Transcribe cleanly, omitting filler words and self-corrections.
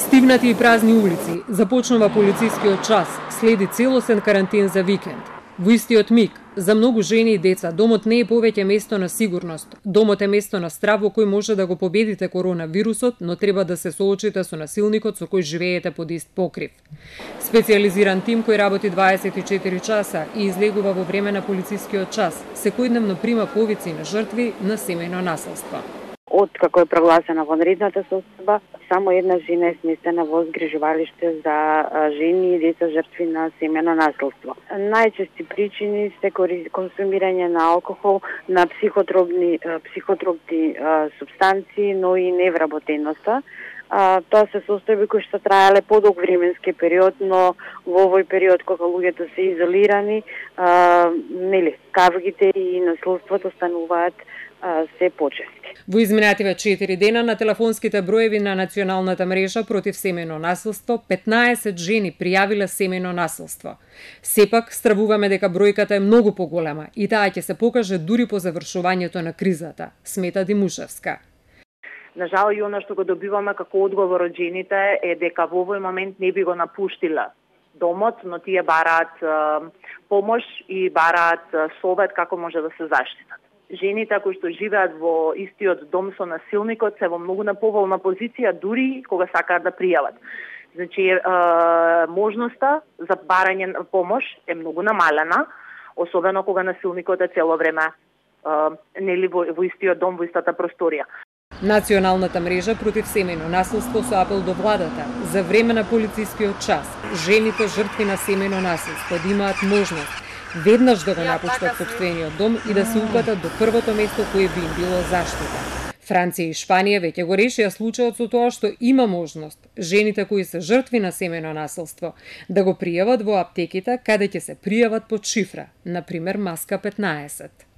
Стивнати и празни улици, започнува полицискиот час, следи целосен карантин за викенд. Во истиот миг, за многу жени и деца, домот не е повеќе место на сигурност. Домот е место на страв во кој може да го победите коронавирусот, но треба да се соочите со насилникот со кој живеете под ист покрив. Специализиран тим кој работи 24 часа и излегува во време на полицискиот час, секојдневно прима повици на жртви на семејно насилство. Откако е прогласена вонредната состојба, само една жена е сместена во згрижувалиште за жени и деца жртви на семејно насилство. Најчести причини се консумирање на алкохол, на психотропни супстанции, но и невработеноста. Тоа се состојби кои што траеле подолг временски период, но во овој период кога луѓето се изолирани, кавгите и насилството стануваат се почести. Во изминативе 4 дена на телефонските броеви на Националната мрежа против семејно насилство, 15 жени пријавиле семејно насилство. Сепак, стравуваме дека бројката е многу поголема и таа ќе се покаже дури по завршувањето на кризата, смета Димушевска. На жал и она што го добиваме како одговор од жените е дека во овој момент не би го напуштила домот, но тие бараат помош и бараат совет како може да се заштитат. Жените кои што живеат во истиот дом со насилникот се во многу неповолна позиција дури кога сакаат да пријават. Значи, можноста за барање на помош е многу намалена, особено кога насилникот е цело време во истиот дом, во истата просторија. Националната мрежа против семејно насилство со апел до владата за време на полицискиот час, жените жртви на семејно насилство да имаат можност веднаш да го напуштат сопствениот дом и да се упатат до првото место кое би им било заштита. Франција и Шпанија веќе го решија случајот со тоа што има можност жените кои се жртви на семејно насилство да го пријават во аптеките каде ќе се пријават под шифра, например маска 15.